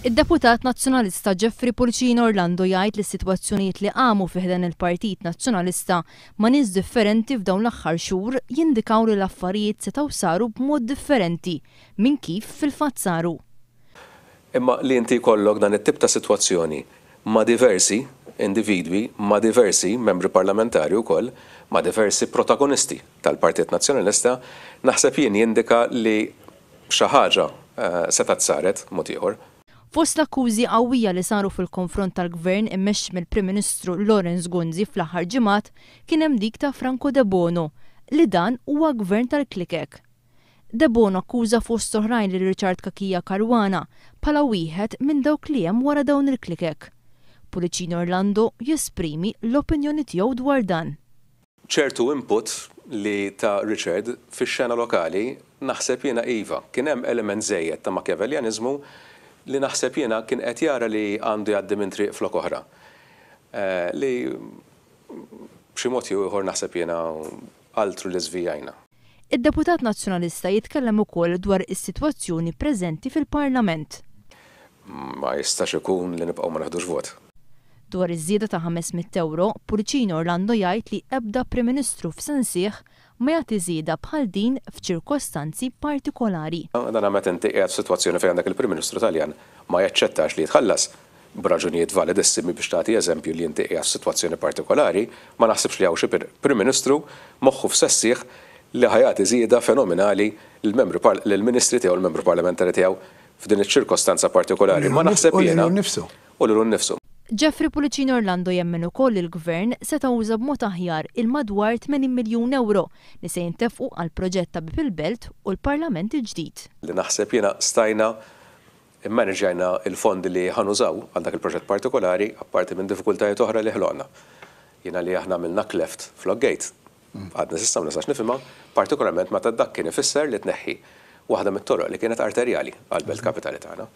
Id-deputat Nazzjonalista Jeffrey Pullicino Orlando jgħid li s-sitwazzjonijiet li qamu fi ħdan il-Partit Nazzjonalista ma' nies differenti f'dawn l-aħħar xhur jindikaw li l-affarijiet setgħu saru b'mod differenti minn kif fil-fatt saru. Imma li inti jkollok dan it-tip ta' sitwazzjoni ma' diversi individwi, ma' diversi membri parlamentari wkoll, ma' diversi protagonisti tal-Partit Nazzjonalista, naħseb jien jindika li xi ħaġa setgħet saret mod ieħor. Fost l-akkużi qawwija li saru fil-konfront tal-Gvern immexxi mill-Prim Ministru Lawrence Gonzi fl-aħħar ġimgħat kien hemm dik ta' Franco Debono li dan huwa gvern tal-klikek. Debono akkuża fost oħrajn lil Richard Cachia Caruana bħala wieħed minn dawk li hemm wara dawn il-klikek. Pullicino Orlando jesprimi l-opinjoni tiegħu dwar dan. Ċertu input li ta Richard fix-xena lokali naħseb jiena iva, kien hemm element żejjed ta' Machiavellianiżmu li naħseb jiena kien qed jara li għandu jgħaddi minn triq flok oħra. Li b'xi mod jew ieħor naħseb jiena altru li żvijajna. Id-deputat Nazzjonalista jitkellem ukoll dwar is-sitwazzjoni preżenti fil-Parlament. Ma jistax ikun li nibqgħu ma neħdux vot. Dwar iż-żieda ta' 500 ewro, Pullicino Orlando jgħid li ebda Prim Ministru f'sensih ma jagħti żieda bħal din f'ċirkostanzi partikolari. Dan meta inti qiegħed f'sitwazzjoni fejn għandek il-Prim Ministru Taljan ma jaċċettax li jitħallas b'raġunijiet validissimi biex tagħti eżempju li inti qiegħed f'sitwazzjoni partikolari, ma naħsibx li hawn xi Prim Ministru moħħu f'sessih li ħa jagħti żieda fenomenali lill-membri lill-ministri tiegħu, l-membru parlamentari tiegħu f'din iċ-ċirkostanza partikolari. Ma naħseb jiena. U lilu nnifsu. U lilu nnifsu. Jeffrey Pullicino Orlando jemmen ukoll li l-Gvern seta' uża b'mod aħjar il-madwar 80 miljun ewro li se jintefqu għall-proġett ta' Bieb il-Belt u l-Parlament il-ġdid. Li naħseb jiena stajna Immaniġġjajna l-fondi li ħa nużaw għal dak il-proġett partikolari, apparti minn diffikultajiet oħra li ħloqna. Jiena li aħna għamilna cleft flok gate, għadni s'issa ma nistax nifhimha, partikolarment meta dak kien ifisser li tneħħi waħda mit-toroq li kienet arterjali għall-belt kapitali tagħna.